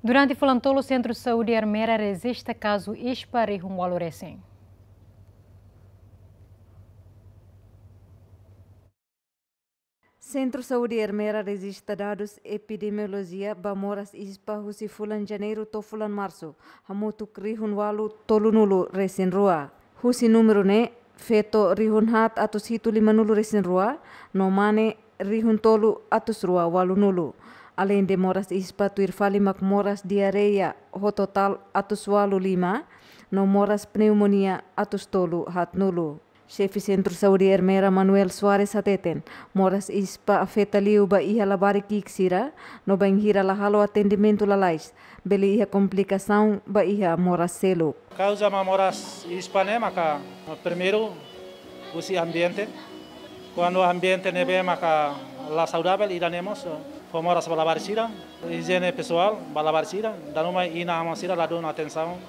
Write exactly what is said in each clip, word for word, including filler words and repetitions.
Durante fulan tolu, Sentru Saúde Ermera rejista kazu ispa rihun walu resin. Sentru Saúde Ermera rejista dadus epidemiolojia ba moras ispa husi fulan Janeiru to'o fulan Marsu, hamutuk rihun walu tolunulu resin rua. Husi númeru ne'e, feto rihun haat atus hitu limanulu resin rua, no mane rihun tolu atus rua walunulu. Aleinde moras ispa, tuir fali mak moras diarreia ho totál atus walu lima, no moras pneumonia atus tolu haatnulu. Xefe Sentru Saúde Ermera, Manuel Soares, hateten, moras ispa afeta liu ba iha labarik ki'ik sira, no bainhira la halo atendimentu lalais, bele iha komplikasaun ba iha moras seluk. Kauza ba moras ispa ne'e maka primeiru husi ambiente. Kuandu ambiente ne'ebé maka la saudavel, ida-ne'e mós fó moras ba labarik sira, ijiene pesoál ba labarik sira, dala ruma inan-aman sira ladún atensaun,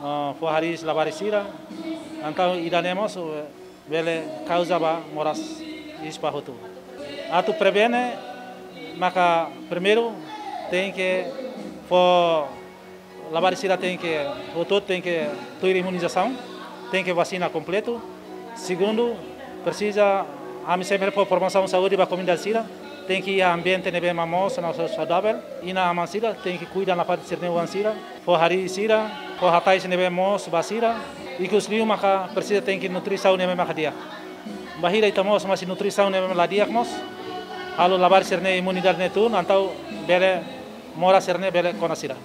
ah, fó hariis labarik sira, entaun ida-ne'e mós, eh, bele kauza ba moras ispa hotu. Atu prevene, maka primeiru tenke fó labarik sira tenke, hotu tenke tuir imunizasaun, tenke vasina kompletu. Segundu, presiza, ami sempre fó promosaun saúde ba komunidade sira, tenke iha ambiente ne'ebé mak moos no saudavel, inan-aman sira tenke kuida nafatin sira-nia oan sira, fó hariis sira, fó hatais ne'ebé moos ba sira, ikus liu maka presiza tenke nutrisaun ne'ebé maka di'ak. Bainhira ita moos mós nutrisaun ne'ebé la di'ak mós, halo labarik sira-nia imunidade ne'e tun, entaun bele moras sira-ne'e bele kona sira.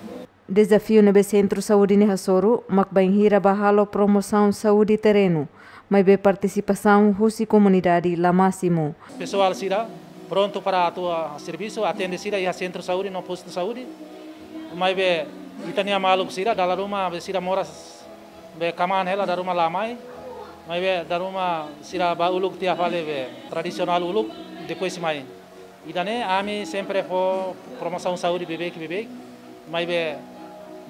Dezafiu ne'ebé Sentru Saúde ne'e hasoru mak bainhira bá halo promosaun saúde terrenu, maibé partisipasaun husi komunidade la másimu. Pesoál sira prontu para atu, ah, servisu, atende sira iha Sentru Saúde no Postu Saúde, maibé ita-nia maluk sira dala ruma be sira moras be kmaan hela, dala ruma la mai, maibé dala ruma sira bá uluk tiha fali be tradisionál uluk, depois mai. Ida-ne'e ami sempre fó promosaun saúde beibeik, beibeik, maibé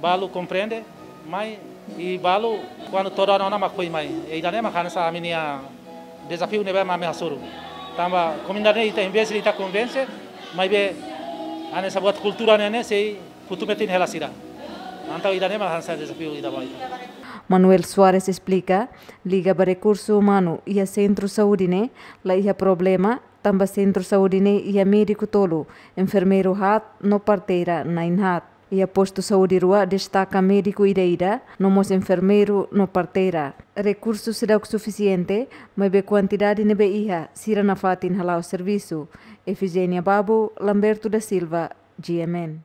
balu komprende, mai i balu kuandu todan ona mak foin mai. I ida-ne'e mak hanesan ami-nia dezafiu ne'ebé mak ami hasoru. Tanba komunidade ne'e ita investe, ita konvense, maibé hanesan buat kultura ne'e ne'e sei futu metin hela sira. Entaun ida-ne'e mak hanesan dezafiu ida ba ita. Manuel Soares esplika, liga ba rekursu umanu iha Sentru Saúde ne'e, la iha problema, tanba Sentru Saúde ne'e iha médiku tolu, enfermeiru haat no parteira na'in haat. Iha Postu Saúde rua destaka médiku ida-ida, no mós enfermeiru no parteira. Rekursu seidauk sufisiente, maibé kuantidade ne'ebé iha, sira nafatin hala'o servisu. Efigénia Babo, Lamberto da Silva, G M N.